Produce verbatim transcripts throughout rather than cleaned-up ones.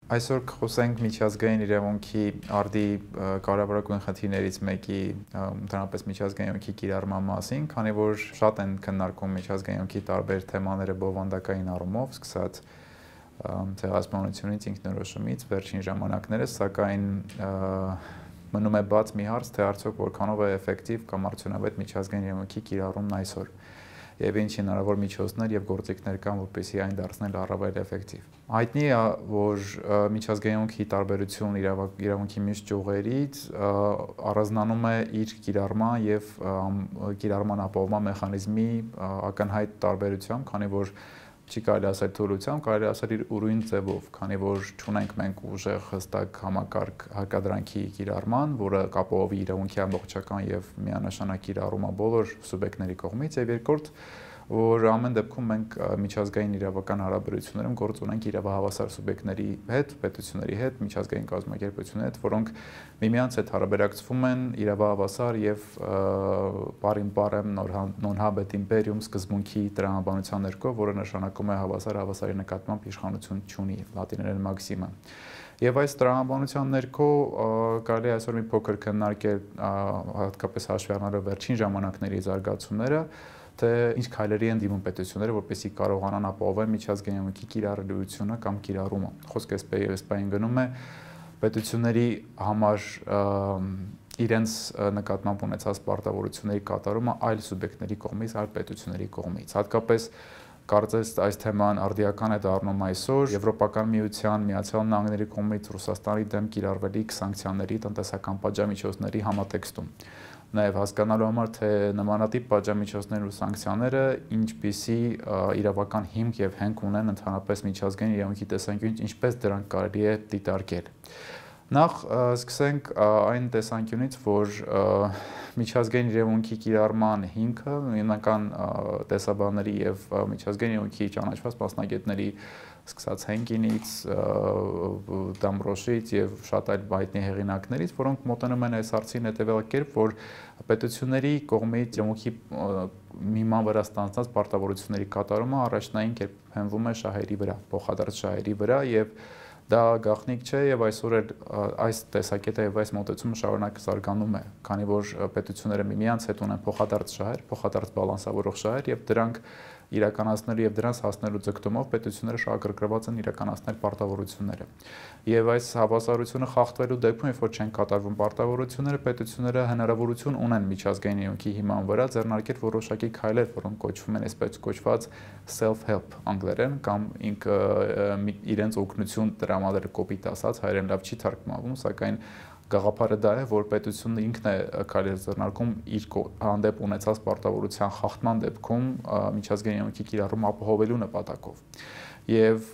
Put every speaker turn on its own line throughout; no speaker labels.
Այսօր կխոսենք միջազգային իրավունքի արդի կարևորագույն խնդիրներից մեկի ընդհանրապես միջազգային իրավունքի կիրառման մասին, քանի որ շատ են քննարկում միջազգային իրավունքի տարբեր թեմաները բովանդակային առումով, սկսած ցեղասպանությունից, ինքնորոշումից վերջին ժամանակներս, սակայն մնում է բաց մի հարց, թե արդյոք որքանով է էֆեկտիվ կամ արդյունավետ միջազգային իրավունքի կիրառումն այսօր եւ ինչ հնարավոր միջոցներ եւ գործիքներ կան, որպեսզի այն դարձնել առավել էֆեկտիվ։ Հայտնի է, որ միջազգային իրավունքի տարբերություն իրավունքի մյուս ճյուղերից առանձնանում է իր կիրառման եւ կիրառման ապահովման մեխանիզմի ակնհայտ տարբերությամբ, քանի որ չի կարելի ասել թուլությամբ, կարելի ասել իր ուրույն ձևով, քանի որ չունենք մենք ուժեղ հստակ համակարգ հարկադրանքի կիրառման, որը կապահովի իրավունքի ամբողջական եւ միանշանակ կիրառումը բոլոր սուբյեկտների կողմից, եւ երկրորդ, որ ամեն դեպքում մենք միջազգային իրավական հարաբերություններում գործ ունենք իրավահավասար սուբյեկտների հետ, պետությունների հետ, միջազգային կազմակերպությունների հետ, որոնք միմյանց հետ հարաբերակցվում են իրավահավասար եւ պարիմպարեմ non-habet imperium սկզբունքի տրամաբանության ներքո, որը նշանակում է հավասար հավասարի նկատմամբ իշխանություն չունի, լատիներեն մաքսիմա։ Եվ այս տրամաբանության ներքո կարելի է այսօր մի փոքր քննարկել, հատկապես հաշվի առնելով վերջին ժամանակների զարգացումները, թե ինչ քայլերի են դիմում պետությունները, որպեսզի կարողանան ապահովել միջազգային իրավունքի կիրառելիությունը կամ կիրառումը։ Խոսքը այս բային գնում է պետությունների համար իրենց նկատմամբ ունեցած պարտավորությունների կատարումը այլ սուբյեկտների կողմից, այլ պետությունների կողմից։ Հատկապես կարծես այս թեման արդիական է դառնում այսօր Եվրոպական միության, Միացյալ Նահանգների կողմից Ռուսաստանի դեմ կիրառվելիք սանկցիաների տնտեսական պատժամիջոցների համատեքստում։ Նաև հասկանալու համար, թե նմանատիպ պատժամիջոցներն ու սանկցիաները ինչպիսի իրավական հիմք եւ հենք ունեն ընդհանրապես միջազգային իրավունքի տեսանկյունից, ինչպես դրանք կարելի է դիտարկել։ Նախ սկսենք այն տեսանկյունից, որ միջազգային իրավունքի կիրառման հիմքը հիմնական տեսաբանների եւ միջազգային իրավունքի ճանաչված մասնագետների սկսած Հենկինից, Դամբրոշից եւ շատ այլ հայտնի հեղինակներից, որոնք մոտենում են այս հարցին հետեւյալ կերպ, որ պետությունների կողմից իրավունքի հիման վրա ստանձնած պարտավորությունների կատարումը առաջնային կերպ հենվում է շահերի վրա, փոխադարձ շահերի վրա եւ դա գաղտնիք չէ եւ այսօր էլ այս տեսակետը եւ այս մոտեցումը շարունակ զարգանում է, քանի որ պետությունները միմյանց հետ ունեն փոխադարձ շահեր, փոխադարձ բալանսավորող շահեր եւ դրանք իրականացնելու եւ դրանց հասնելու ձգտումով պետությունները շահագրգռված են իրականացնել պարտավորությունները։ Եվ այս հավասարությունը խախտվելու դեպքում, երբ որ չեն կատարվում պարտավորությունները, պետությունները հնարավորություն ունեն միջազգային իրավունքի հիման վրա ձեռնարկել որոշակի քայլեր, որոնք կոչվում են այսպես կոչված self-help անգլերեն կամ ինքը իրենց օգնություն տրամադրել, կոպիտ ասած, հայերեն լավ չի թարգմանվում, սակայն գաղափարը դա է, որ պետությունը ինքն է քայլեր ձեռնարկում իր հանդեպ ունեցած պարտավորության խախտման դեպքում միջազգային իրավունքի կիրառումը ապահովելու նպատակով։ Եվ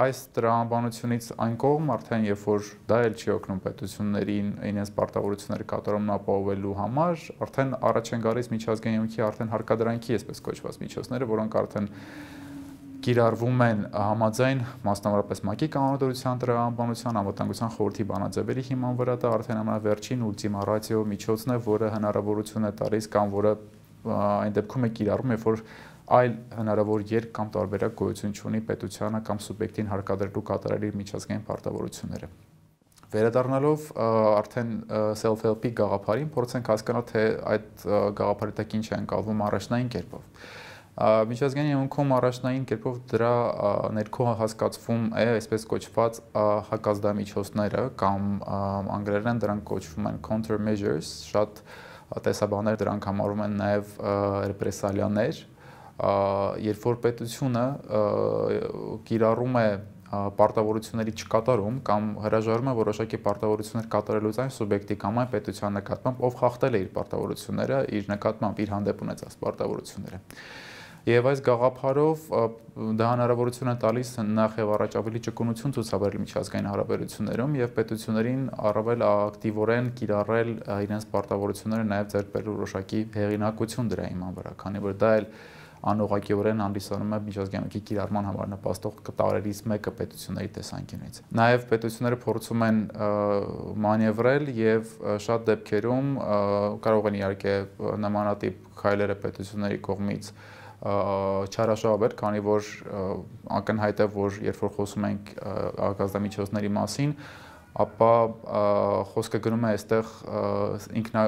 այս տրամաբանությունից այն կողմ արդեն երբ որ դա էլ չի օգնում պետություններին իրենց պարտավորությունները կատարումն ապահովելու համար, արդեն առաջ են գալիս միջազգային իրավունքի արդեն հարկադրանքի այսպես կոչված միջոցները, որոնք արդեն կիրառվում են համաձայն մասնավորապես ՄԱԿ-ի կանոնադրության տրամաբանության անվտանգության խորհրդի բանաձևերի հիման վրա, դա արդեն ամենավերջին ուլտիմա ռացիո միջոցն է, որը հնարավորություն է տալիս կամ որը այն դեպքում է կիրառվում, երբ որ այլ հնարավոր երկ կամ տարբերակ գոյություն չունի պետությանը կամ սուբյեկտին հարկադրելու կատարել իր միջազգային պարտավորությունները։ Վերադառնալով արդեն self-help-ի գաղափարին, փորձենք հասկանալ, թե այդ գաղափարի տակ ինչ է ընկալվում առաջնային կերպով։ Միջազգային իրավունքում առաջնային կերպով դրա ներքո հասկացվում է այսպես կոչված հակազդամիջոցները կամ անգլերեն դրանք կոչվում են countermeasures, շատ տեսաբաններ դրանք համարում են նաև ռեպրեսալիաներ, երբ որ պետությունը կիրառում է պարտավորությունների չկատարում կամ հրաժարվում է որոշակի պարտավորություններ կատարելուց այն սուբյեկտի կամ այն պետության նկատմամբ, ով խախտել է իր պարտավորությունները, իր նկատմամբ իր հանդեպ ունեցած պարտավորությունները։ Եվ այս գաղափարով դա հնարավորություն է տալիս նախ եւ առաջ ավելի ճկունություն ցուցաբերել միջազգային հարաբերություններում եւ պետություններին առավել ակտիվորեն կիրառել իրենց պարտավորությունները նաեւ ձեռք բերել որոշակի հեղինակություն դրա հիման վրա, քանի որ դա էլ անուղղակիորեն հանդիսանում է միջազգային իրավունքի կիրառման համար նպաստող տարերից մեկը պետությունների տեսանկյունից։ Նաև պետությունները փորձում են մանևրել եւ շատ դեպքերում կարող են իհարկե նմանատիպ քայլերը պետությունների կողմից չարաշահով էր, քանի որ ակնհայտ է, որ երբ որ խոսում ենք արտադրամիջոցների մասին, ապա խոսքը գնում է այստեղ ինքնա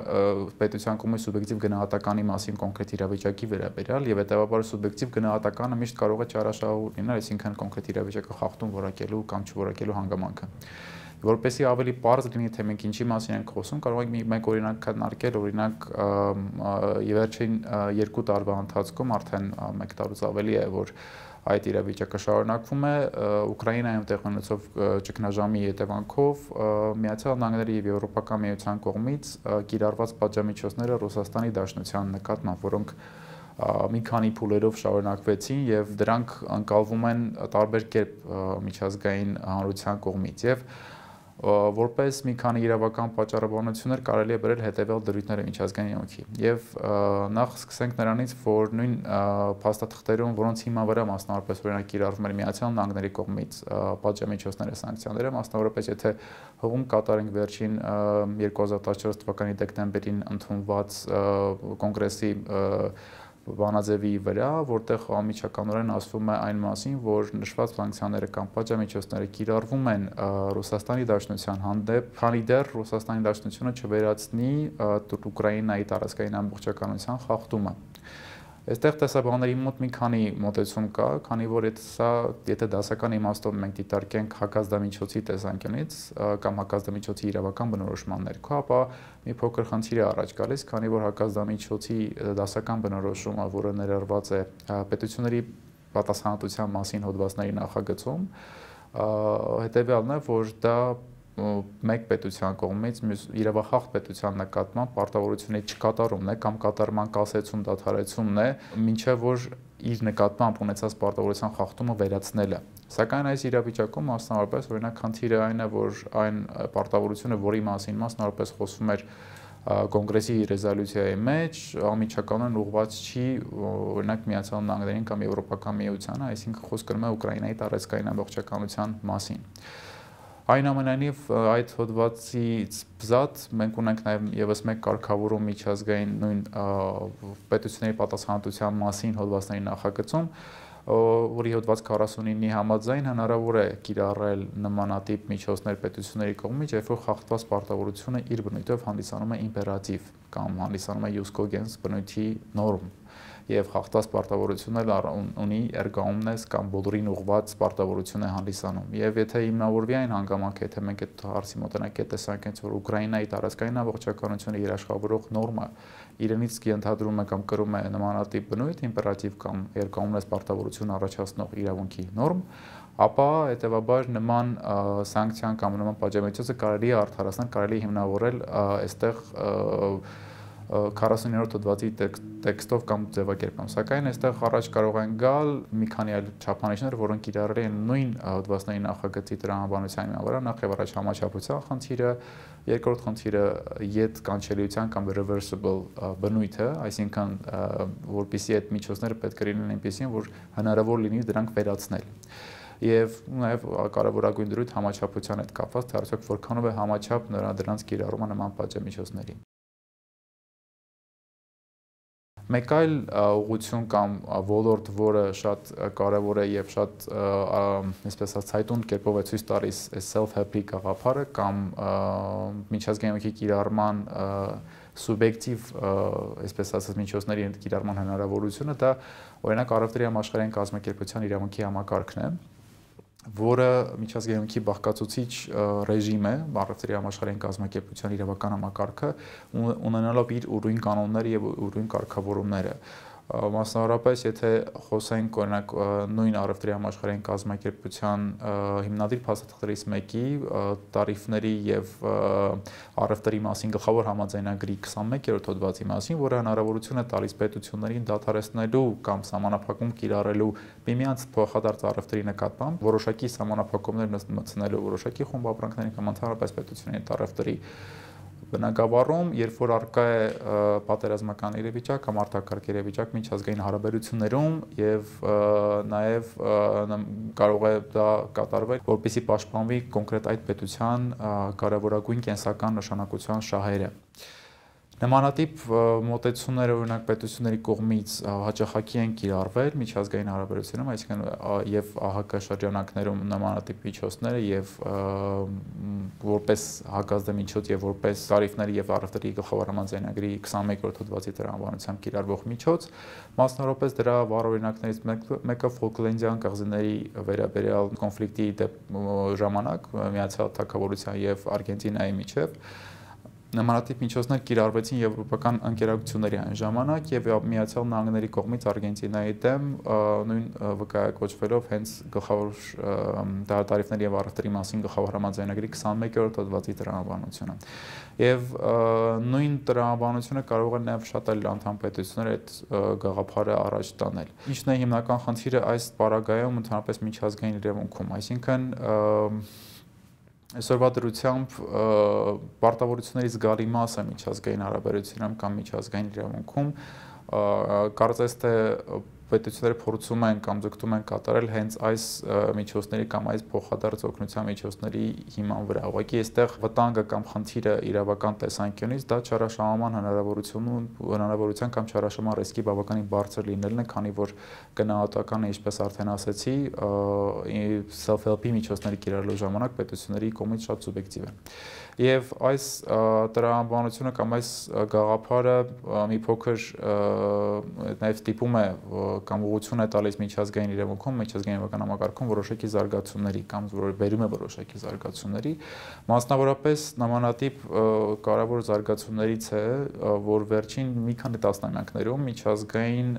պետության կողմից սուբյեկտիվ գնահատականի մասին կոնկրետ իրավիճակի վերաբերյալ եւ հետեւաբար սուբյեկտիվ գնահատականը միշտ կարող է չարաշահող լինել, այսինքն կոնկրետ իրավիճակը խախտում որակելու կամ չորակելու հանգամանքը։ Որպեսզի ավելի պարզ լինի, թե մենք ինչի մասին ենք խոսում, կարող ենք մեկ օրինակ քննարկել, օրինակ վերջին երկու տարվա ընթացքում արդեն մեկ տարուց ավելի է, որ այդ իրավիճակը շարունակվում է, Ուկրաինայում տեղի ունեցող ճգնաժամի հետևանքով Միացյալ Նահանգների եւ Եվրոպական միության կողմից կիրառված պատժամիջոցները Ռուսաստանի Դաշնության նկատմամբ, որոնք մի քանի փուլերով շարունակվեցին եւ դրանք ընկալվում են տարբեր կերպ միջազգային հանրության կողմից եւ որպես մի քանի իրավական պատճառաբանություններ կարելի է բերել հետևյալ դրույթները միջազգային յոթի եւ նախ սկսենք նրանից, որ նույն փաստաթղթերում, որոնց հիման վրա մասնավորապես օրինակ կիրառվում էր Միացյալ Նահանգների կողմից պատժամիջոցները, սանկցիաները, մասնավորապես եթե հողում կատարենք վերջին երկու հազար տասնչորս թվականի դեկտեմբերին ընդունված կոնգրեսի բանաձևի վրա, որտեղ անմիջականորեն ասվում է այն մասին, որ նշված սանկցիաները կամ պատժամիջոցները կիրառվում են Ռուսաստանի Դաշնության հանդեպ, քանի դեռ Ռուսաստանի Դաշնությունը չվերացնի Ուկրաինայի տարածքային ամբողջականության խախտումը։ Այստեղ տեսաբանների մոտ մի քանի մոտեցում կա, քանի որ սա, եթե դասական իմաստով մենք դիտարկենք հակազդամիջոցի տեսանկյունից կամ հակազդամիջոցի իրավական բնորոշման ներքո, ապա մի փոքր խնդիր է առաջ գալիս, քանի որ հակազդամիջոցի դասական բնորոշումը, որը ներառված է պետությունների պատասխանատվության մասին հոդվածների նախագծում, հետևյալն է, որ դա մեկ պետության կողմից իրավախախտ պետության նկատմամբ պարտավորությունների չկատարումն է կամ կատարման կասեցում, դադարեցումն է, մինչև որ իր նկատմամբ ունեցած պարտավորության խախտումը վերացնելը։ Սակայն այս իրավիճակում մասնավորապես օրինակ խնդիրը այն է, որ այն պարտավորությունը, որի մասին մասնավորապես խոսվում էր կոնգրեսի ռեզոլյուցիայի մեջ, անմիջականորեն ուղղված չի օրինակ Միացյալ Նահանգներին կամ Եվրոպական միությանը, այսինքն խոսքը գնում է Ուկրաինայի տարածքային ամբողջականության մասին։ Այնուամենայնիվ այդ հոդվածից բզատ մենք ունենք նաև եւս մեկ կարգավորում միջազգային նույն պետությունների պատասխանատվության մասին հոդվածների նախագծում, որի հոդված քառասունինի համաձայն հնարավոր է կիրառել նմանատիպ միջոցներ պետությունների կողմից, երբ որ խախտված պարտավորությունը իր բնույթով հանդիսանում է իմպերատիվ կամ հանդիսանում է jus cogens բնույթի նորմ եւ խախտված պարտավորությունը ունի ergaomnes կամ բոլորին ուղղված պարտավորություն է հանդիսանում։ Եվ եթե հիմնավորվի այն հանգամանքը, եթե մենք այդ հարցի մոտենանք այդ տեսանկյունից, որ Ուկրաինայի տարածքային ամբողջականությունը երաշխավորող նորմը իրենից կընդհանրում է կամ կրում է նմանատիպ բնույթ, իմպերատիվ կամ ergaomnes պարտավորություն առաջացնող իրավունքի նորմ, ապա հետեւաբար նման սանկցիան կամ նման պատժամիջոցը կարելի է արդարացնել, կարելի է հիմնավորել այստեղ քառասունիններորդ հոդվածի տեքստով կամ ձևակերպում, սակայն այստեղ առաջ կարող են գալ մի քանի այլ չափանիշներ, որոնք կիրառել են նույն հոդվածների նախագծի տրամաբանության վրա, նախ եւ առաջ համաչափության խնդիրը, երկրորդ խնդիրը յետ կանչելիության կամ reversible բնույթը, այսինքն որպեսզի այդ միջոցները պետք է լինեն այնպեսին, որ հնարավոր լինի դրանք վերացնել։ Եվ նաև կարևորագույն դրույթ համաչափության հետ կապված, թե արդյոք որքանով է համաչափ դրանց կիրառումը նման պատժամիջոցների։ Մեկ այլ ուղղություն կամ ոլորտ, որը շատ կարևոր է եւ շատ այսպես ասած ցայտուն կերպով է ցույց տալիս self-help-ի գաղափարը կամ միջազգային ոգի կիրառման սուբյեկտիվ այսպես ասած միջոցների կիրառման հնարավորությունը, դա օրինակ առևտրի համաշխարհային կազմակերպության իրավունքի համակարգն է, որը միջազգային ոգի բաղկացուցիչ ռեժիմ է, առևտրի համաշխարհային կազմակերպության իրավական համակարգը, ունենալով իր ուրույն կանոնները եւ ուրույն կարգավորումները։ Մասնավորապես, եթե խոսենք օրինակ նույն առևտրի համաշխարհային կազմակերպության հիմնադիր փաստաթղթերից մեկի տարիֆների եւ առևտրի մասին գլխավոր համաձայնագրի քսանմեկերորդ հոդվածի մասին, որը հնարավորություն է տալիս պետություններին դադարեցնելու կամ սահմանափակում կիրառելու միմյանց փոխադարձ առևտրի նկատմամբ, որոշակի սահմանափակումներ մտցնելու որոշակի խումբ ապրանքների կամ ընդհանրապես պետությունների առևտրի բնագավառում, երբ որ առկա է պատերազմական իրավիճակ կամ արտակարգ իրավիճակ միջազգային հարաբերություններում եւ նաեւ կարող է դա կատարվել, որպեսզի պաշտպանվի կոնկրետ այդ պետության կարևորագույն կենսական նշանակության շահերը։ Նմանատիպ մոտեցումները օրինակ պետությունների կողմից հաճախակի են կիրառվել միջազգային հարաբերությունում, այսինքն եւ ԱՀԿ շրջանակներում նմանատիպ միջոցները եւ որպես հակազդեցմիջոց եւ որպես տարիֆների եւ առևտրի գլխավորման ձայնագրի քսանմեկերորդ հոդվածի տրամաբանությամբ կիրառվող միջոց, մասնավորապես դրա վառ օրինակներից մեկը Ֆոլկլենդյան կղզիների վերաբերյալ կոնֆլիկտի ժամանակ Միացյալ Թագավորության եւ Արգենտինայի միջեւ նմանատիպ միջոցներ կիրառվեցին եվրոպական ընկերությունների այն ժամանակ եւ Միացյալ Նահանգների կողմից Արգենտինայի դեմ նույն վկայակոչվելով հենց գլխավոր տարիֆների եւ առևտրի մասին գլխավոր համաձայնագրի քսանմեկերորդ հոդվածի տրամաբանությունը եւ նույն տրամաբանությունը կարող է նաեւ շատ այլ անդամ պետություններ այդ գաղափարը առաջ տանել։ Ինչն է հիմնական խնդիրը այս պարագայում ընդհանրապես միջազգային իրավունքում, այսինքն Այսօրվա դրությամբ պարտավորությունների զգալի մասը միջազգային հարաբերությունում կամ միջազգային իրավունքում կարծես թե պետությունները փորձում են կամ ձգտում են կատարել հենց այս միջոցների կամ այս փոխադարձ օգնության միջոցների հիման վրա։ Ուղղակի այստեղ վտանգը կամ խնդիրը իրավական տեսանկյունից դա չարաշահման հնարավորություն հնարավորության կամ չարաշահման ռիսկի բավականին բարձր լինելն է, քանի որ գնահատականը, ինչպես արդեն ասեցի, self-help-ի միջոցների կիրառելու ժամանակ պետությունների կողմից շատ սուբյեկտիվ է։ Եվ այս տրամաբանությունը կամ այս գաղափարը մի փոքր նաև ստիպում է կամ ուղղություն է տալիս միջազգային իրավունքում, միջազգային իրավական համակարգում որոշակի զարգացումների կամ բերում է որոշակի զարգացումների, մասնավորապես նմանատիպ կարևոր զարգացումներից է, որ վերջին մի քանի տասնամյակներում միջազգային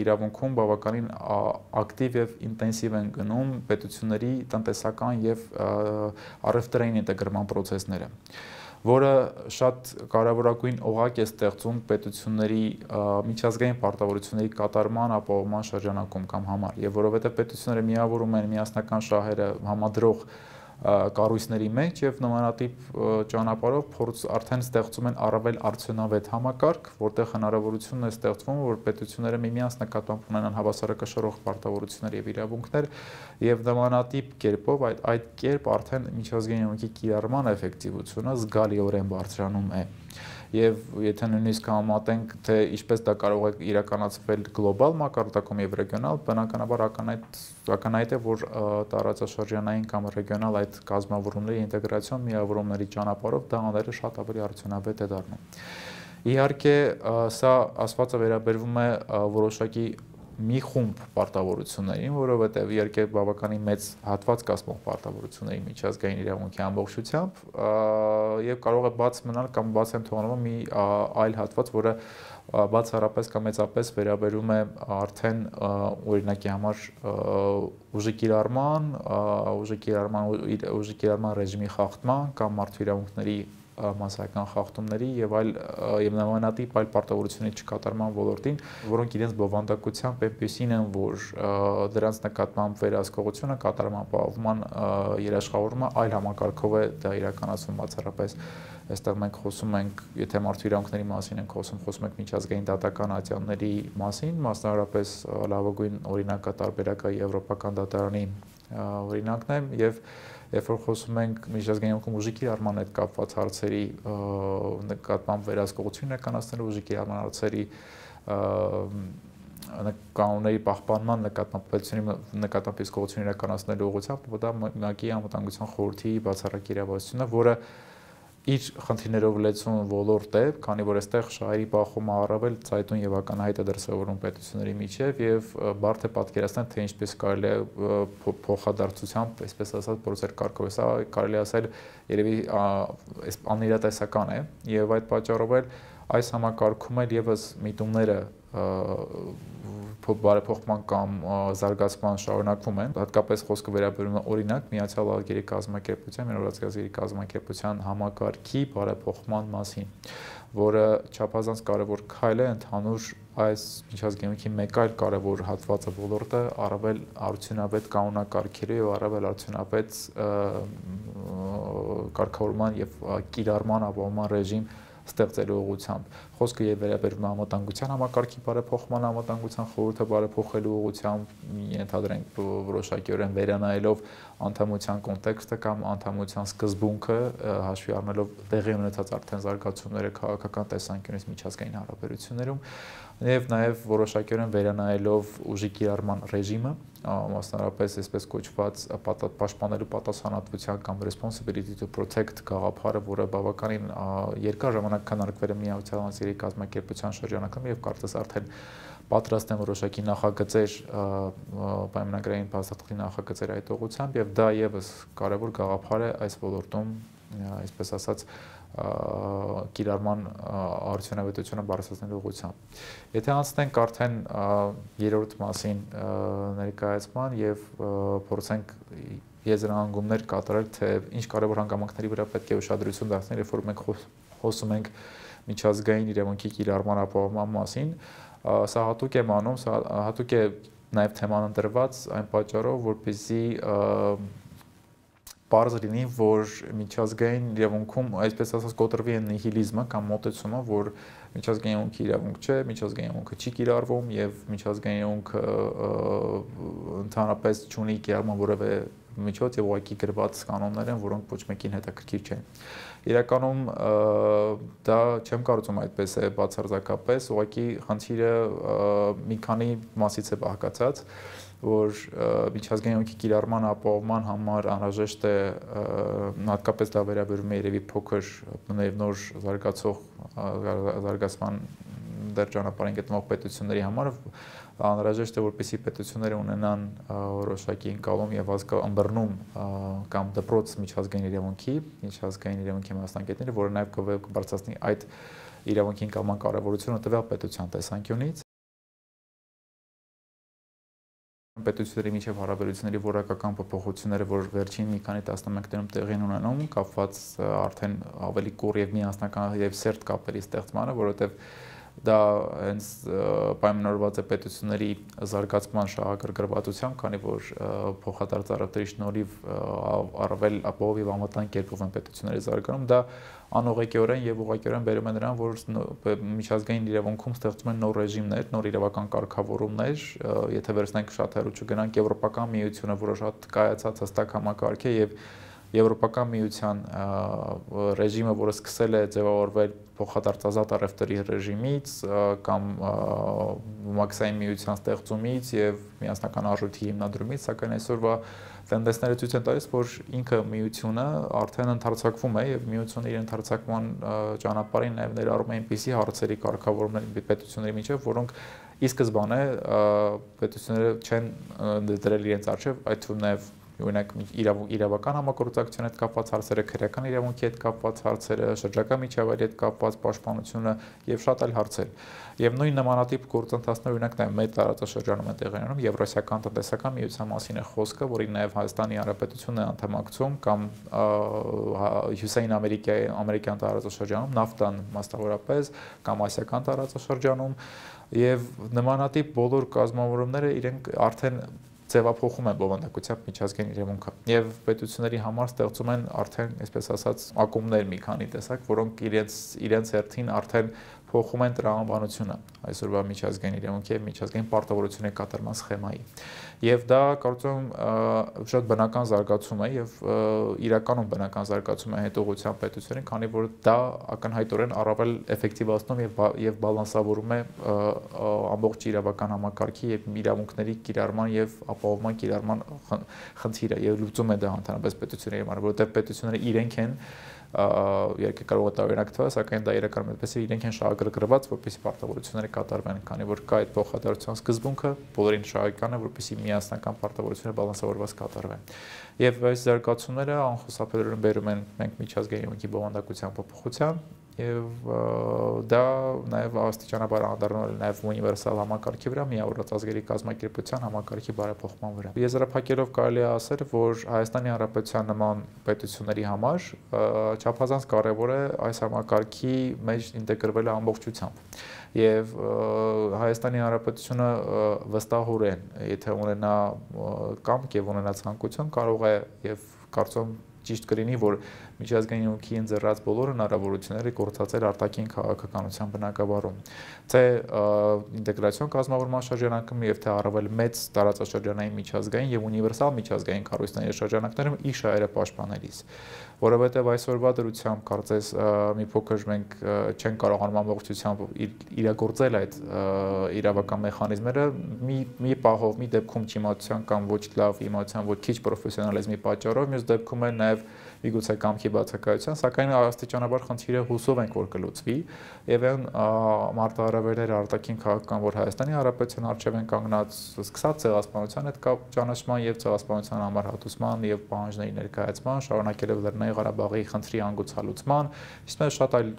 իրավունքում բավականին ակտիվ եւ ինտենսիվ են գնում պետությունների տնտեսական եւ առևտրային ինտեգրման procesները, որը շատ կարևորագույն օղակ է ստեղծում պետությունների միջազգային պարտավորությունների կատարման ապահովման շրջանակում կամ համար, եւ որովհետեւ պետությունները միավորում են միասնական շահերը համադրող կառույցների մեջ եւ նմանատիպ ճանապարհով փորձ արդեն ստեղծում են առավել արդյունավետ համակարգ, որտեղ հնարավորությունն է ստեղծվում, որ պետությունները միմյանց նկատմամբ ունենան հավասարակշռող պարտավորություններ եւ իրավունքներ եւ նմանատիպ կերպով այդ այդ կերպ արդեն միջազգային իրավունքի կիրառման էֆեկտիվությունը զգալիորեն բարձրանում է։ Եվ եթե նույնիսկ համատենք, թե ինչպես դա կարող է իրականացվել գլոբալ մակարդակում եւ ռեգիոնալ, բնականաբար ակնհայտ ակնհայտ է, որ տարածաշրջանային կամ ռեգիոնալ այդ կազմավորումների ինտեգրացիոն միավորումների ճանապարհով դա անելը շատ ավելի արդյունավետ է դառնում։ Իհարկե, սա ասվածը վերաբերվում է որոշակի մի խումբ պարտավորություններին, որովհետև իհարկե բավականին մեծ հատված կազմող պարտավորությունների միջազգային իրավունքի ամբողջությամբ եւ կարող է բաց մնալ կամ բաց են թողնվում մի այլ հատված, որը բացառապես կամ մեծապես վերաբերում է արդեն օրինակի համար ուժի կիրառման, ուժի կիրառման ուժի կիրառման ռեժիմի խախտման կամ մարդու իրավունքների մասսայական խախտումների եւ այլ եւ նմանատիպ այլ պարտավորությունների չկատարման ոլորտին, որոնք իրենց բովանդակությամբ այնպեսին են, որ դրանց նկատմամբ վերահսկողությունը կատարման ապահովման երաշխավորումը այլ համակարգով է դա իրականացվում բացառապես այստեղ մենք խոսում ենք, եթե մարդու իրավունքների մասին ենք խոսում, խոսում ենք միջազգային դատական ատյանների մասին, մասնավորապես լավագույն օրինակը տարբերակը եվրոպական դատարանի օրինակն է եւ Երբ որ խոսում ենք միջազգային իրավունքում ուժի կիրառման հետ կապված հարցերի նկատմամբ վերահսկողություն իրականացնելու ուժի կիրառման հարցերի կանոնների պահպանման նկատմամբ պետությունի նկատմամբ իսկողություն իրականացնելու ուղղությամբ, դա ՄԱԿ-ի անվտանգության խորհրդի բացառիկ իրավասությունը, որը իր խնդիրներով լեցուն ոլորտ է, քանի որ այստեղ շահերի բախումը առավել ցայտուն եւ ակնհայտ է դրսևորվում պետությունների միջև եւ բարդ է պատկերացնել, թե ինչպես կարելի է փոխադարձությամբ, այսպես ասած, process կարգով, սա կարելի ասել երևի անիրատեսական է եւ այդ պատճառով էլ այս համակարգում էլ եւս միտումները բարեփոխման կամ զարգացման շարունակվում են, հատկապես խոսքը վերաբերում է օրինակ Միացյալ Նահանգների կազմակերպության, Միացյալ կազմակերպության համակարգի բարեփոխման մասին, որը չափազանց կարևոր քայլ է ընդհանուր այս միջազգային մեկ այլ կարևոր հատվածը ոլորտը առավել արդյունավետ կանոնակարգերի եւ առավել արդյունավետ կարգավորման եւ կիրառման ապահովման ռեժիմ ստեղծելու ուղղությամբ։ Խոսքը եւ վերաբերվում է անվտանգության համակարգի բարեփոխման, անվտանգության խորհուրդը բարեփոխելու ուղղությամբ, ենթադրենք որոշակիորեն վերանայելով անդամության կոնտեքստը կամ անդամության սկզբունքը հաշվի առնելով տեղի ունեցած արդեն զարգացումները քաղաքական տեսանկյունից միջազգային հարաբերություններում եւ նաեւ որոշակիորեն վերանայելով ուժի կիրառման ռեժիմը, մասնավորապես այսպես կոչված պաշտպանելու պատասխանատվության կամ responsibility to protect գաղափարը, որը բավականին երկար ժամանակ քննարկվել է Միացյալ Նահանգների կազմակերպության շրջանակում եւ կարծես արդեն պատրաստ են որոշակի նախագծեր պայմանագրային փաստաթղթի նախագծեր այդ ուղղությամբ եւ դա եւս կարեւոր գաղափար է այս ոլորտում, այսպես ասած, կիրառման արդյունավետությունը բարձրացնելու ուղղությամբ։ Եթե անցնենք արդեն երրորդ մասին ներկայացման եւ փորձենք եզրահանգումներ կատարել, թե ինչ կարևոր հանգամանքների վրա պետք է ուշադրություն դարձնել, երբ որ մենք խոսում ենք միջազգային իրավունքի կիրառման ապահովման մասին, սա հատուկ եմ անում, սա հատուկ է նաև թեման ընտրված այն պատճառով, որպեսզի պարզ լինի, որ միջազգային իրավունքում, այսպես ասած, կոտրվի այն նիհիլիզմը կամ մոտեցումը, որ միջազգային իրավունքի իրավունք չէ, միջազգային իրավունքը չի կիրառվում եւ միջազգային իրավունքը ընդհանրապես չունի կիրառման որևէ միջոց եւ ուղղակի գրված կանոններ են, որոնք ոչ մեկին հետաքրքիր չեն։ Իրականում դա չեմ կարծում այդպես է բացարձակապես, ուղղակի խնդիրը մի քանի մասից է բաղկացած, որ միջազգային իրավունքի կիրառման ապահովման համար անհրաժեշտ է հատկապես դա վերաբերում է երևի փոքր նոր զարգացող զարգացման դեռ ճանապարհին գտնվող պետությունների համար անհրաժեշտ է որպեսզի պետությունները ունենան որոշակի ընկալում եւ ըմբռնում կամ դպրոց միջազգային իրավունքի, միջազգային իրավունքի մասնագետները, որը նաեւ կբարձրացնի այդ իրավունքի ընկալման կարեւորությունը տվյալ պետության տեսանկյունից։ Պետությունների միջև հարաբերությունների որակական փոփոխությունները, որ վերջին մի քանի տասնամյակներում տեղի են ունենում, կապված արդեն ավելի կուռ եւ միասնական եւ սերտ կապերի ստեղծմանը, որովհետեւ դա հենց պայմանավորված է պետությունների զարգացման շահագրգռվածությամբ, քանի որ փոխադարձ առևտրի շնորհիվ առավել ապահով եւ անվտանգ կերպով են պետությունների զարգանում, դա անուղղակիորեն եւ ուղղակիորեն բերում է նրան, որ միջազգային իրավունքում ստեղծում են նոր ռեժիմներ, նոր իրավական կարգավորումներ, եթե վերցնենք շատ հեռու չգնանք, Եվրոպական միությունը, որը շատ կայացած հստակ համակարգ է եւ Եվրոպական միության ռեժիմը, որը սկսել է ձևավորվել փոխադարձ ազատ առևտրի ռեժիմից կամ մաքսային միության ստեղծումից եւ միասնական արժույթի հիմնադրումից, սակայն այսօրվա տենդենսները ցույց են տալիս, որ ինքը միությունը արդեն ընդարձակվում է եւ միությունը իր ընդարձակման ճանապարհին նաեւ ներառում է այնպիսի հարցերի կարգավորումներ պետությունների միջեւ, որոնք ի սկզբանե պետությունները չեն դրել իրենց արժեվ, այդ թվում նաեւ օրինակ իրավական համագործակցության հետ կապված հարցերը, քրեական իրավունքի հետ կապված հարցերը, շրջակա միջավայրի հետ կապված պաշտպանությունը եւ շատ այլ հարցեր։ Եվ նույն նմանատիպ գործընթացներ օրինակ նաեւ մեր տարածաշրջանում են տեղի ունենում, Եվրասիական տնտեսական միության մասին է խոսքը, որին նաեւ Հայաստանի Հանրապետությունն է անդամակցում կամ Հյուսիսային Ամերիկայի ամերիկյան տարածաշրջանում, նավթան մասնավորապես կամ ասիական տարածաշրջանում եւ նմանատիպ բոլոր կազմավորումները իրենք արդեն ձևափոխում են բովանդակությամբ միջազգային իրավունքը եւ պետությունների համար ստեղծում են արդեն, այսպես ասած, ակումբներ մի քանի տեսակ, որոնք իրենց իրենց հերթին արդեն փոխում են տրամաբանությունը այսօրվա միջազգային իրավունքի եւ միջազգային պարտավորությունների կատարման սխեմայի։ Եվ դա կարծում եմ շատ բնական զարգացում է եւ իրականում բնական զարգացում է հետողության պետություններին, քանի որ դա ակնհայտորեն առավել էֆեկտիվացնում եւ եւ բալանսավորում է ամբողջ իրավական համակարգի եւ իրավունքների կիրառման եւ ապահովման կիրառման խնդիրը եւ լուծում է դա ընդհանրապես պետությունների համար, որովհետեւ պետությունները իրենք են երկը կարող է տարօրինակ թվալ, սակայն դա իրականում այդպես է, իրենք են շահագրգռված, որպեսզի պարտավորությունները կատարվեն, քանի որ կա այդ փոխադարձության սկզբունքը, բոլորին շահեկան է, որպեսզի միասնական պարտավորությունները բալանսավորված կատարվեն։ Եվ այս զարգացումները անխուսափելիորեն բերում են մենք միջազգային իրավունքի բովանդակության փոփոխության եւ դա նաեւ աստիճանաբար անդառնալ նաեւ ունիվերսալ համակարգի վրա, միավորված ազգերի կազմակերպության համակարգի բարեփոխման վրա։ Եզրափակելով կարելի է ասել, որ Հայաստանի Հանրապետության նման պետությունների համար չափազանց կարևոր է այս համակարգի մեջ ինտեգրվելը ամբողջությամբ։ Եվ Հայաստանի Հանրապետությունը վստահորեն, եթե ունենա կամք եւ ունենա ցանկություն, կարող է եւ կարծում ճիշտ կլինի, որ միջազգային յունքի ընձեռած բոլոր հնարավորությունները գործածել արտաքին քաղաքականության բնագավառում։ Թե ինտեգրացիոն կազմավորման շրջանակում եւ թե առավել մեծ տարածաշրջանային միջազգային եւ ունիվերսալ միջազգային կառույցների շրջանակներում իր շահերը պաշտպանելիս, որովհետեւ այսօրվա դրությամբ կարծես մի փոքր մենք չենք կարողանում ամբողջությամբ իրագործել այդ իրավական մեխանիզմները մի մի պահով, մի դեպքում չիմացության կամ ոչ լավ իմացության, ոչ քիչ պրոֆեսիոնալիզմի պատճառով, մյուս դեպքում էլ նաեւ միգուցե կամքի բացակայության, սակայն աստիճանաբար խնդիրը հուսով ենք որ կլուծվի եւ այն մարտահրավերները արտաքին քաղաքական, որ Հայաստանի Հանրապետության առջեւ են կանգնած, սկսած ցեղասպանության հետ կապ ճանաչման եւ ցեղասպանության համար հատուցման եւ պահանջների ներկայացման, շարունակելով Լեռնային Ղարաբաղի խնդրի անգուցալուծման, իսկ շատ այլ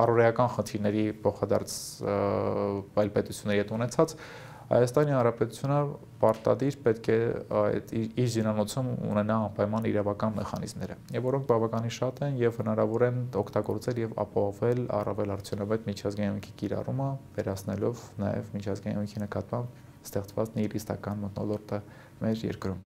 առօրեական խնդիրների փոխադարձ այլ պետությունների հետ ունեցած Հայաստանի Հանրապետությունը պարտադիր պետք է իր զինանոցում ունենա անպայման իրավական մեխանիզմները, եւ որոնք բավականին շատ են եւ հնարավոր են օգտագործել եւ ապահովել առավել արդյունավետ միջազգային յունքի կիրառումը, վերացնելով նաեւ միջազգային յունքի նկատմամբ ստեղծված նիհիլիստական մթնոլորտը մեր երկրում։